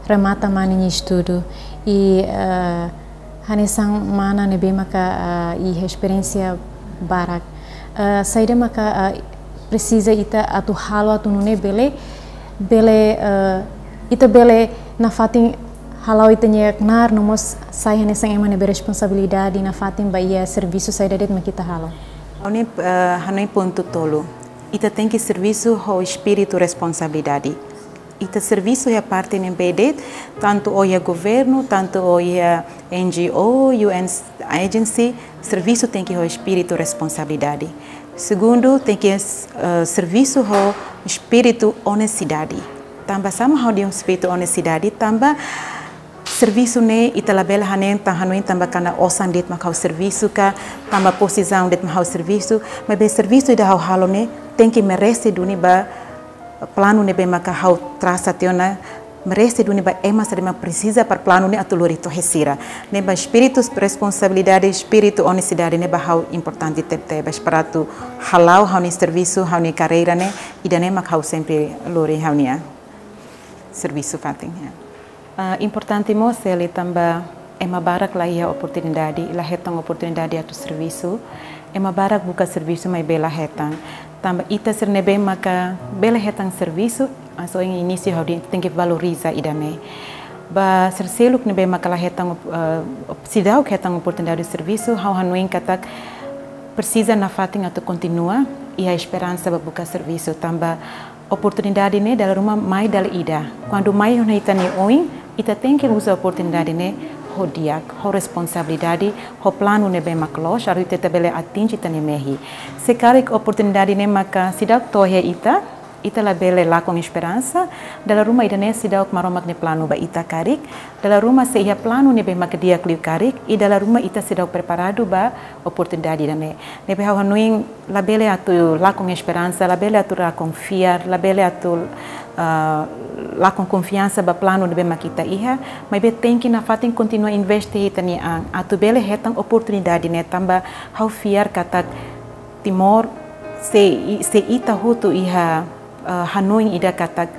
remata mana nia estudu. I, eh, hanesan mana ne'ebé maka, ah, iha esperiénsia barak. Ah, saida maka, ah, presiza ita atu halo atu nune'e bele, bele, ah, ita bele nafatin hala'o ita-nia knaar no mós sai hanesan ema ne'ebé responsabilidade nafatin ba iha servisu saida de'it mak ita halo. Ha'u-nia, ah, ha'u-nia pontu tolu. Ita tenke servisu ho espíritu responsabilidade. Ita servisu iha parte ne'ebé de'it, tantu iha governu, tantu iha N G O, U N agency, servisu tenke ho espíritu responsabilidade. Segundu, tenke, eh, servisu ho espíritu onestidade. Tanba sá mak ha'u dehan espíritu onestidade, tanba servisu ne'e ita labele hanehan tan hanoin tanba katak osan de'it mak ha'u servisu ka, tanba pozisaun de'it mak ha'u servisu, maibé servisu ida ha'u halo ne'e tenke merese duni ba planu ne'ebé maka ha'u trasa tiha ona, merese duni ba ema sira ne'ebé mak presiza para planu ne'e atu lori to'o sira. Ne'ebé espíritu responsabilidade, espíritu onestidade ne'e ba ha'u importante tebetebes para atu hala'o ha'u-nia servisu, ha'u-nia karreira ne'e, ida-ne'e mak ha'u sempre lori ha'u-nia servisu fatin, ya. Ah, importante mós Seli tanba ema barak la iha oportunidade, la hetan oportunidade atu servisu. Ema barak buka servisu maibé la hetan. Tanba ita sira ne'ebé maka bele hetan servisu, hanesan ohin inísiu ha'u dehan tenke valoriza ida-ne'e. Ba sira seluk ne'ebé maka la hetan, eh, seidauk hetan oportunidade servisu, ha'u hanoin katak presiza nafatin atu kontinua iha esperansa ba buka servisu, tanba oportunidade ne'e dala ruma mai dala ida. Kuandu mai iha ita-nia oin, ita tenke uza oportunidade ne'e ho di'ak, ho responsabilidade, ho planu ne'ebé mak loos, atu ita bele atinje ita-nia mehi. Se karik oportunidade ne'e maka seidauk to'o iha ita, ita labele lakon esperansa, dala ruma ida-ne'e seidauk Maromak nia planu ba ita karik, dala ruma sei iha planu ne'ebé mak di'ak liu karik, i dala ruma ita seidauk preparadu ba oportunidade ida-ne'e. Ne'ebé ha'u hanoin labele atu lakon esperansa, labele atu lakon fiar, labele atu, ah, lakon konfiansa ba planu ne'ebé mak ita iha, maibé tenke nafatin kontinua investe ita-nia an, atu bele hetan oportunidade ne'e tanba ha'u fiar katak Timor, se i-, se ita hotu iha, eh, hanoin ida katak,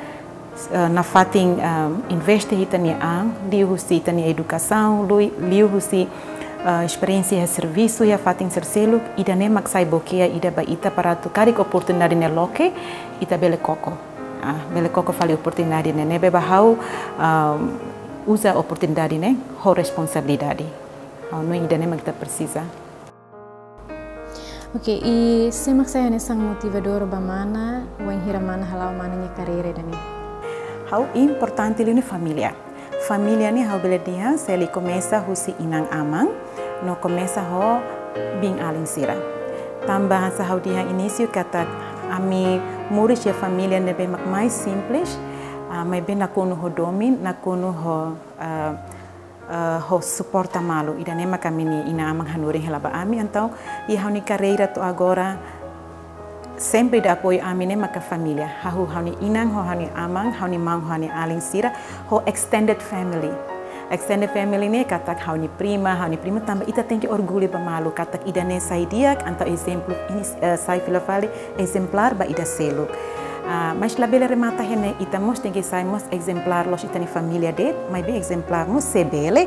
eh, nafatin, eh, investe ita-nia an, liuhusi ita-nia edukasaun, lui-, liuhusi, eh, esperiénsia iha servisu, iha fatin sira seluk, ida-ne'e mak sai blokeia ida ba ita para atu karik oportunidade ne'e loke, ita bele koko. Ah, bele koko fali oportunidade ne'e, ne'ebé ba ha'u, ah, uza oportunidade ne'e ho responsabilidade. Ha'u hanoin ida-ne'e mak ita presiza. Oke, i sé mak sai hanesan motivadór ba mana, wainhira mana hala'o mana nia karreira ida-ne'e? Ha'u importante liu ne'e família. Família ne'e ha'u bele dehan, se liu komesa husi inan-aman, no komesa ho biin-alin sira. Tanba hanesan ha'u dehan inísiu katak ami moris iha família ne'ebé mak mais simples, ah, maibé nakonu ho domin, nakonu ho, ah, eh, ho suporta malu. Ida-ne'e maka ami-nia inan-aman hanorin hela ba ami, entaun, iha ha'u-nia karreira to'o agora, sempre ida apoiu ami ne'e maka família. Ha'u, ha'u-nia inan ho ha'u-nia aman, ha'u-nia maun ho ha'u-nia alin sira, ho extended family. Extended family ne'e katak ha'u-nia prima, ha'u-nia prima tanba ita tenke orgullu ba malu, katak ida-ne'e sai di'ak, entaun ezemplu, ini, eh, sai fila fali, ezemplár ba ida seluk. Ah, mas labele remata iha ne'e, ita mós tenke sai mós ezemplár la'ós ita-nia família de'it, maibé ezemplár mós se bele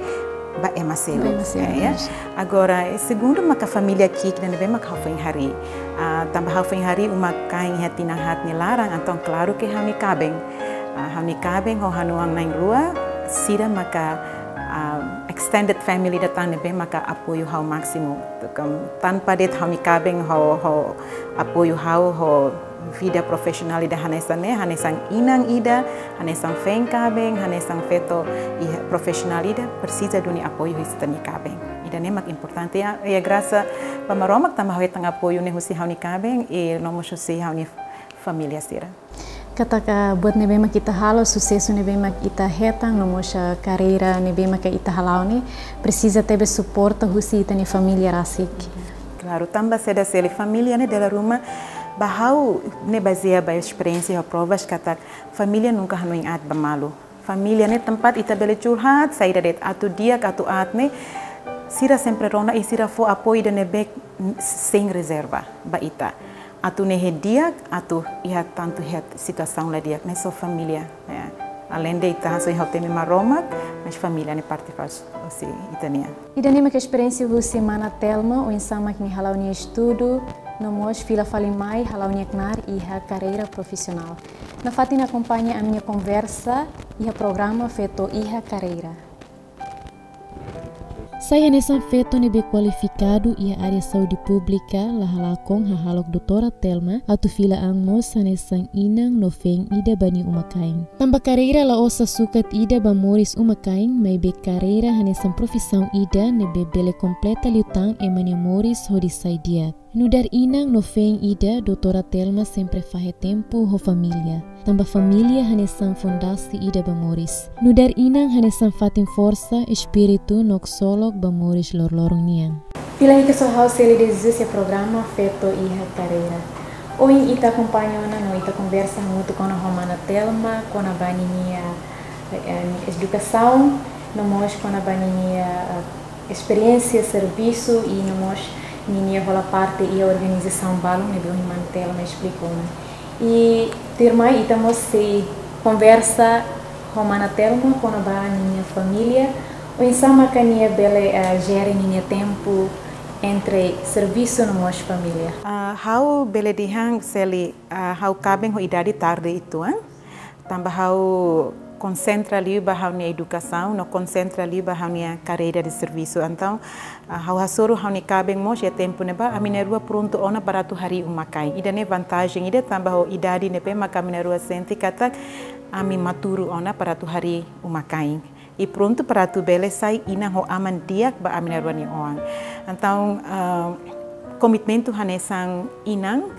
ba ema seluk. Ba ema seluk, ya, ya. Yes. Agora, eh, segundu maka família ki'ik ida ne'ebé maka ha'u foin harii. Ah, tanba ha'u foin harii uma-kain iha tinan haat nia laran, entaun klaru ke ha'u-nia kaben. Ah, ha'u-nia kaben ho ha'u-nia oan na'in-rua, sira maka, ah, extended family ida tan ne'ebé maka apoiu ha'u másimu. Tanba de'it ha'u-nia kaben ho, ho apoiu ha'u ho vida profisionál ida hanesan ne'e, hanesan inan ida, hanesan feen kaben, hanesan feto iha profisionál ida, presiza duni apoiu husi ita-nia kaben. Ida-ne'e mak importante, ya, ya grasa ba Maromak tanba ha'u hetan apoiu ne'e husi ha'u-nia kaben, i no mós husi ha'u-nia família sira. Katak buat ne'ebé mak ita halo, susesu ne'ebé mak ita hetan, no mós, ah, karreira ne'ebé mak ita hala'o ne'e, presiza tebes suporta husi ita-nia família rasik. Klaru, tanba saida se lae família ne'e dala ruma, ba ha'u ne'e bazeia ba esperiénsia ho provas katak família nunka hanoin aat ba malu. Família ne'e tempat ita bele curhat, saida de'it atu di'ak, atu aat ne'e, sira sempre rona i sira fó apoiu ida ne'ebé sein rezerva ba ita. Atu ne'e di'ak, atu iha tantu iha situasaun la di'ak, ne'e só família, ya. Aleinde ita hasoin ha'u temi Maromak, mas família ne'e parte fali husi ita-nian. Ida-ne'e mak esperiénsia husi mana Telma, oinsá mak nia hala'o nia estudu, no mós fila fali mai hala'o nia knaar iha karreira profisionál. Nafatin akompaña ami-nia konversa iha programa Feto iha Karreira. Sai hanesan feto ne'ebé kualifikadu iha área saúde públika, la halakon hahalok doutora Telma atu fila an mós hanesan inan no feen ida ba nia uma-kain. Tanba karreira la'ós sukat ida ba moris uma-kain, maibé karreira hanesan profisaun ida ne'ebé bele kompleta liután ema nia moris hodi sai di'ak. Nu'udar inan no feen ida, doutora Telma sempre fahe tempu ho família. Tanba família hanesan fondasi ida ba moris. Nu'udar inan hanesan fatin forsa, espíritu no ksolok ba moris loroloron nian. Fila hikas ho ha'u Celi de Jesus iha programa Feto iha Karreira. Ohin ita akompaña ona no ita konversa hamutuk ona ho mana Telma, kona-ba ninia, eh, edukasaun, no mós kona-ba ninia, eh, esperiénsia servisu i no mós ninia hola parte iha organizasaun balun ne'ebé ohin mana Telma esplika ona. I tuirmai ita mós sei konversa ho mana Telma kona-ba ninia família, oinsá maka nia bele, eh, jere ninia tempu entre servisu no mós família. Ah, ha'u bele dehan Celi, ah, ha'u kaben ho idade tarde uitoan. Tanba ha'u konsentra liu ba ha'u-nia edukasaun, no konsentra liu ba ha'u-nia karreira de servisu. Entaun, ah, ha'u hasoru ha'u-nia kaben mós iha tempu ne'ebá, ami na'in-rua prontu ona para atu harii uma-kain. Ida-ne'e vantajen ida tanba ho idade ne'ebé maka ami na'in-rua sente katak ami maturu ona para atu harii uma-kain. I prontu para atu bele sai inan ho aman di'ak ba ami na'in-rua nia oan. Entaun, ah, komitmentu hanesan inan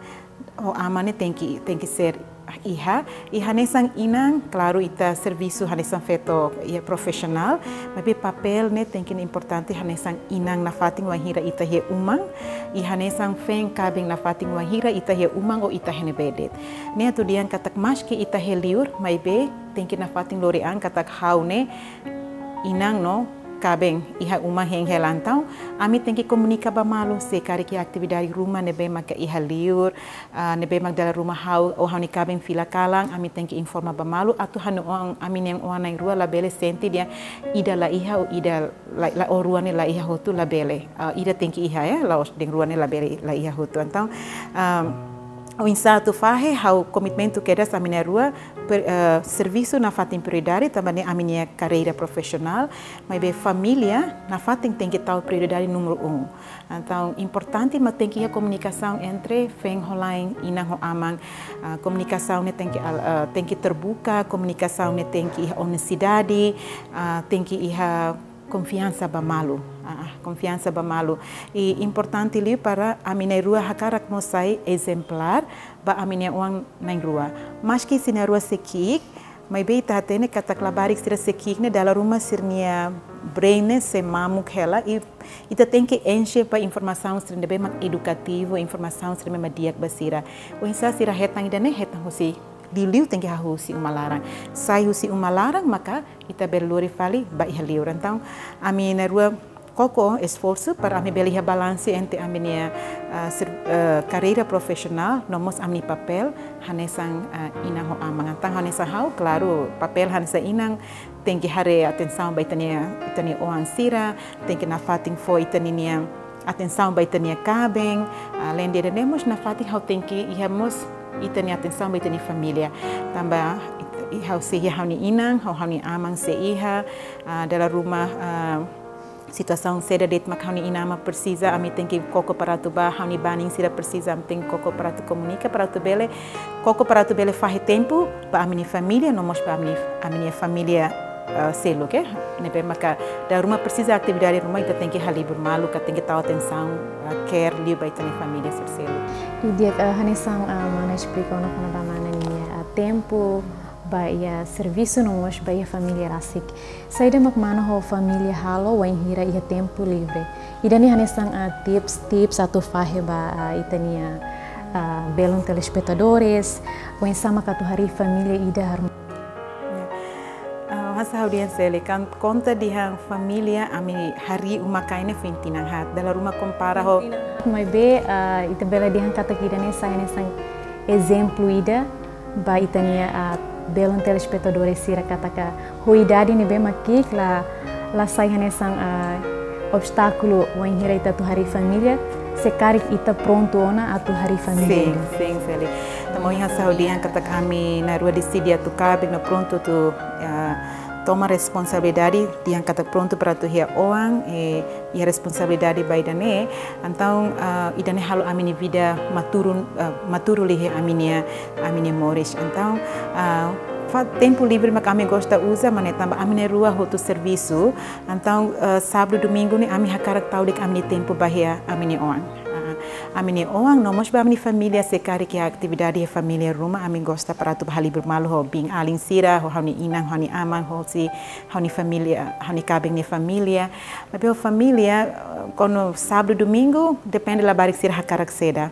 ho aman ne'e tenke, tenke ser iha, i hanesan inan, klaru, ita servisu hanesan feto iha profisionál, maibé papél ne'e tenke importante hanesan inan nafatin wainhira ita iha uma, i hanesan feen kaben nafatin wainhira ita iha uma ou ita iha ne'ebé de'it. Ne'e atu dehan katak maski ita iha li'ur, maibé tenke nafatin lori an katak ha'u ne'e inan no kaben iha uma hein hela. Entaun, ami tenke komunika ba malu se karik iha atividade ruma ne'ebé maka iha li'ur, ah, ne'ebé mak dala ruma ha'u ou ha'u-nia kaben fila kalan, ami tenke informa ba malu atu ha'u-nia oan, ami na'in-rua na'in-rua labele sente dehan ida la iha ou ida la, la, ou rua ne'e la iha hotu, labele. Ah, ida tenke iha, eh, la'ós dehan rua ne'e labele, la iha hotu. Entaun, ah, oinsá atu fahe, ha'u komitmentu kedas ami na'in-rua, per-, eh, servisu nafatin prioridade, tanba ne'e ami-nia karreira profisionál, maibé família nafatin tenke tau prioridade númeru um. Entaun, importante mak tenke iha komunikasaun entre feen ho la'en, inan ho aman. Ah, komunikasaun ne'e tenke al-, ah, tenke terbuka, komunikasaun ne'e tenke iha onestidade, ah, tenke iha konfiansa ba malu. Ah, ah, konfiansa ba malu. I importante liu para ami na'in-rua hakarak mós sai ezemplár ba ami-nia oan na'in-rua. Maski sira na'in-rua sei ki'ik, maibé ita hatene katak labarik sira sei ki'ik ne'e dala ruma sira-nia brain ne'e sei mamuk hela, i ita tenke enxe ba informasaun sira ne'ebé mak edukativu, informasaun sira ne'ebé mak di'ak ba sira. Oinsá sira hetan ida-ne'e, hetan husi liuliu tenke hahú husi uma laran. Sai husi uma laran, maka ita bele lori fali ba iha li'ur. Entaun, ami na'in-rua koko esforsu para ami bele iha balansu entre ami-nia, ah, ser-, ah, karreira profisionál, no mós ami-nia papél hanesan, ah, inan ho aman. Entaun hanesan ha'u, klaru, papél hanesan inan tenke haree atensaun ba ita-nia, ita-nia oan sira, tenke nafatin fó ita-nia atensaun ba ita-nia kaben, ah, além de ida-ne'e mós nafatin ha'u tenke iha mós ita-nia atensaun ba ita-nia família. Tanba it-, i ha'u sei iha ha'u-nia inan, ho ha'u-nia aman sei iha, ah, dala ruma, ah, situasaun saida de'it mak ha'u-nia inan-aman presiza, ami tenke koko para atu bá, ha'u-nia banin sira presiza, ami tenke koko para atu komunika, para atu bele, koko para atu bele fahe tempu ba ami-nia família, no mós ba ami-nia, ami-nia família, eh, seluk, eh. Ne'ebé maka dala ruma presiza atividade ruma, ita tenke halibur malu, ka tenke tau atensaun, eh, care liu ba ita-nia família sira seluk. Di'ak, eh, hanesan, eh, mana esplika ona kona-ba mana nia, eh, tempu ba iha servisu no mós ba iha família rasik. Saida mak mana ho família halo wainhira iha tempu livre? Ida-ne'e hanesan, ah, tips, tips atu fahe ba, ah, ita-nia, ah, belun telespetadores, oinsá mak atu harii família ida harmonia. Ah, hanesan ha'u dehan Seli, kan konta dehan família ami harii uma-kain ne'e foin tinan haat. Dala ruma kompara ho. Maibé, ah, ita bele dehan katak ida-ne'e sai hanesan ezemplu ida ba ita-nia, ah, belun telespetadores sira katak ho idade ne'ebé mak ki'ik la, la sai hanesan, ah, obstákulu wainhira ita atu harii família, se karik ita prontu ona atu harii família. Sin, ida. Sin, Seli. Tanba ohin hanesan ha'u dehan katak ami na'in-rua deside atu kaben no prontu atu, ah, toma responsabilidade, dehan katak prontu para atu iha oan, eh, iha responsabilidade ba ida-ne'e. Entaun, ah, ida-ne'e halo ami-nia vida maturu, ah, maturu liu iha ami-nia, ami-nia moris. Entaun, ah, fa-, tempu livre mak ami gosta uza, mak ne'e tanba ami na'in-rua hotu servisu. Entaun, ah, sábadu, domingu ne'e ami hakarak tau de'it ami-nia tempu ba iha ami-nia oan. Ah, ami-nia oan, no mós ba ami-nia família, se karik iha atividade iha família ruma, ami gosta para atu bá halibur malu ho biin-alin sira, ho ha'u-nia inan, ho ha'u-nia aman, ho si ha'u-nia família, ha'u-nia kaben nia família. Maibé ho família, eh, kuandu sábadu, domingu, depende labarik sira hakarak saida.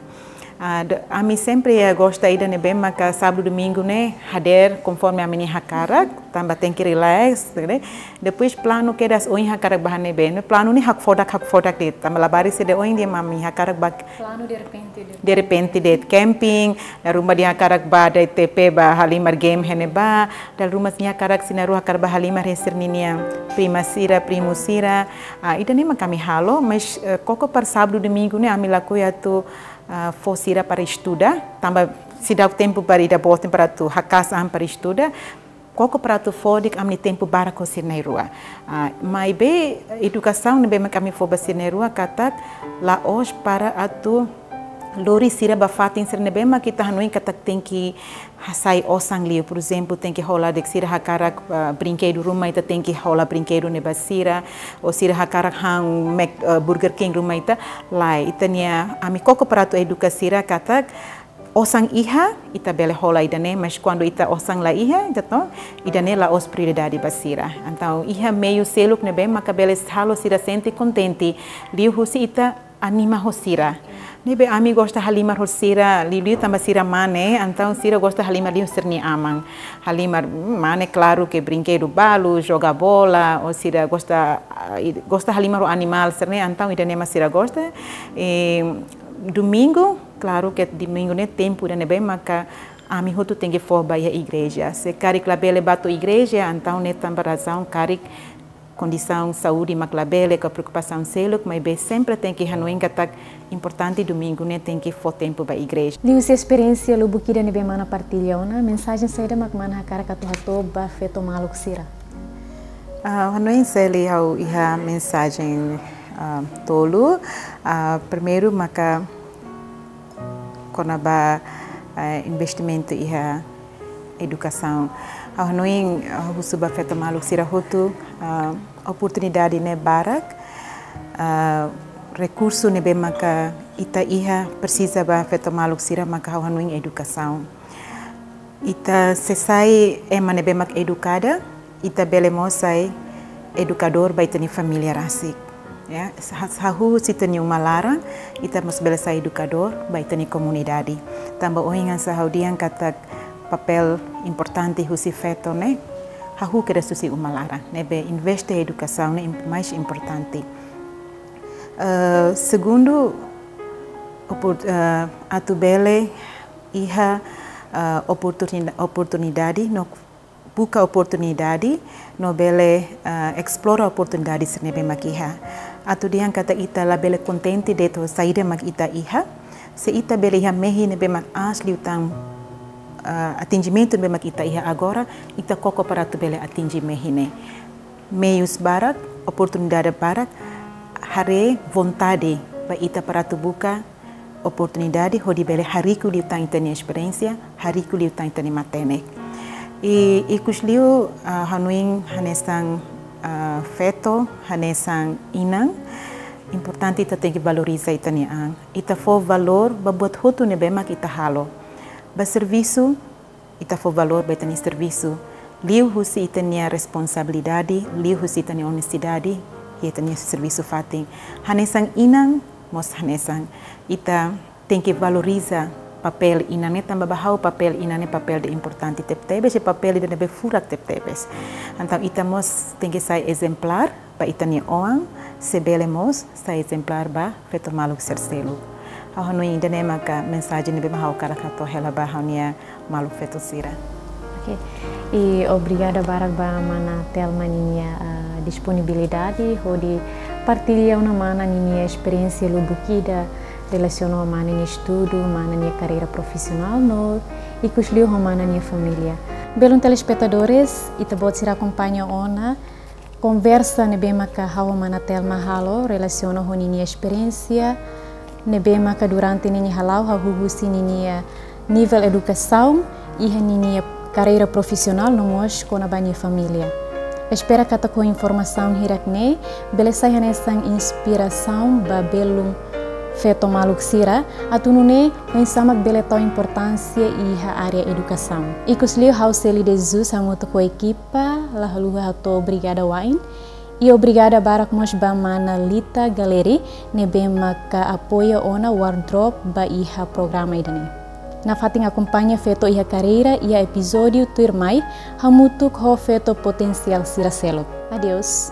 Ah, de-, ami sempre, eh, gosta ida ne'ebé maka sábadu, domingu ne'e hadeer konforme ami-nia hakarak, tanba tenke relax, ne'e. Depois planu kedas ohin hakarak bá iha ne'ebé. Ne'e planu ne'e hakfodak, hakfodak de'it. Tanba labarik sira dehan ohin dehan ami hakarak bá. Planu derrepente de'it. Derrepente de'it camping, dala ruma dehan hakarak bá de'it T P bá halimar game iha ne'ebá, dala ruma sira hakarak sira na'in-rua hakarak bá halimar iha sira-nia prima sira, primu sira. Ah, ida-ne'e mak ami halo, mas, eh, koko para sábadu, domingu ne'e ami lakohi atu, ah, fó sira para estuda, tanba seidauk tempu para ida-boot para atu haka'as an para estuda. koko para atu fó de'it ami-nia tempu barak ho sira na'in-rua. Ah, maibé edukasaun ne'ebé mak ami fó ba sira na'in-rua katak la'ós para atu lori sira ba fatin sira ne'ebé mak ita hanoin katak tenke hasai osan liu. Por ezemplu, tenke hola de'it, sira hakarak, ah, brinkedu ruma, ita tenke hola brinkedu ne'e ba sira, ou sira hakarak han Mac, ah, Burger King ruma, ita lae. Ita-nia, ami koko para atu eduka sira katak osan iha, ita bele hola ida-ne'e, mas kuandu ita osan la iha, entaun ida-ne'e la'ós prioridade ba sira. Entaun iha meiu seluk ne'ebé maka bele halo sira sente kontente, liuhusi ita anima ho sira. Ne'ebé ami gosta halimar ho sira, liuliu tanba sira mane, entaun sira gosta halimar liu sira-nia aman. Halimar, mm, mane, klaru ke brinkedu balu, joga bola, ou sira gosta, ah, i-, gosta halimar ho animál sira-ne'e, entaun ida-ne'e mak sira gosta. I domingu, klaru ke domingu ne'e tempu ida ne'ebé maka ami hotu tenke fó ba iha igreja. Se karik labele bá to'o igreja, entaun ne'e tanba razaun karik kondisaun saúde mak labele ka preokupasaun seluk, maibé sempre tenke hanoin katak importante domingu ne'e tenke fó tempu ba igreja. Liuhusi esperiénsia lubuk ida ne'ebé mana partilla ona, mensajen saida mak mana hakarak atu hato'o ba feto maluk sira? Ah, hanoin Seli, ha'u iha mensajen, ah, tolu. Ah, primeiru maka kona-ba, eh, investimentu iha edukasaun. Ha'u hanoin, eh, husu ba feto maluk sira hotu, eh, oportunidade ne'e barak, eh, rekursu ne'ebé maka ita iha presiza ba feto maluk sira maka ha'u hanoin edukasaun. Ita se sai ema ne'ebé mak edukada, ita bele mós sai edukadór ba ita-nia família rasik. Ya, sa-, hahú husi ita-nia uma laran, ita mós bele sai edukadór ba ita-nia komunidade. Tanba ohin hanesan ha'u dehan katak papél importante husi feto ne'e hahú kedas husi uma laran. Ne'ebé investe edukasaun ne'e im-, mais importante. Eh, segundu, opor-, eh, atu bele iha, eh, oportunida-, oportunidade no buka oportunidade no bele, eh, esplora oportunidade sira ne'ebé mak iha. Atu dehan katak ita labele kontente de'it ho saida mak ita iha. Se ita bele iha mehi ne'ebé mak aas liután, eh, atinjimentu ne'ebé mak ita iha agora, ita koko para atu bele atinje mehi ne'e. Meius barak, oportunidade barak, haree vontade ba ita para atu buka oportunidade hodi bele hariku liután ita-nia esperiénsia, hariku liután ita-nia matenek. I, ikusliu, ah, hanoin hanesan, ah, feto, hanesan inan, importante ita tenke valoriza ita-nia an. Ita fó valór ba buat hotu ne'ebé mak ita halo. Ba servisu, ita fó valór ba ita-nia servisu, liuhusi ita-nia responsabilidade, liuhusi ita-nia onestidade, iha ita-nia servisu fatin. Hanesan inan, mós hanesan. Ita tenke valoriza papél inan ne'e tanba ba ha'u papél inan ne'e papél ida importante tebetebes, i papél ida ne'ebé furak tebetebes. Entaun ita mós tenke sai ezemplár ba ita-nia oan, se bele mós sai ezemplár ba feto maluk sira seluk. Ha'u hanoin ida-ne'e maka mensajen ne'ebé mak ha'u hakarak hato'o hela ba ha'u-nia maluk feto sira. Oke. I obrigada barak ba mana Telma ninia, ah, disponibilidade hodi partilla ona mana ninia esperiénsia lubuk ida relasiona ho mana nia estudu, mana nia karreira profisionál no ikusliu ho mana nia família. Belun telespetadores, ita-boot sira akompaña ona konversa ne'ebé maka ha'u ho mana Telma halo relasiona ho ninia esperiénsia ne'ebé maka durante ninia hala'o hahú husi ninia nivel edukasaun, iha ninia karreira profisionál no mós kona-ba nia família. Espera katak ho informasaun hirak-ne'e bele sai hanesan inspirasaun ba belun feto maluk sira, atu nune'e oinsá mak bele tau importánsia iha área edukasaun. Ikusliu ha'u Seli de Jesus hamutuk ho ekipa la haluha hato'o obrigada wa'in. I obrigada barak mós ba mana Lita Galeri ne'ebé maka apoia ona wardrobe ba iha programa ida-ne'e. Nafatin akompaña Feto iha Karreira iha epizódiu tuirmai hamutuk ho feto potensiál sira seluk. Adeus.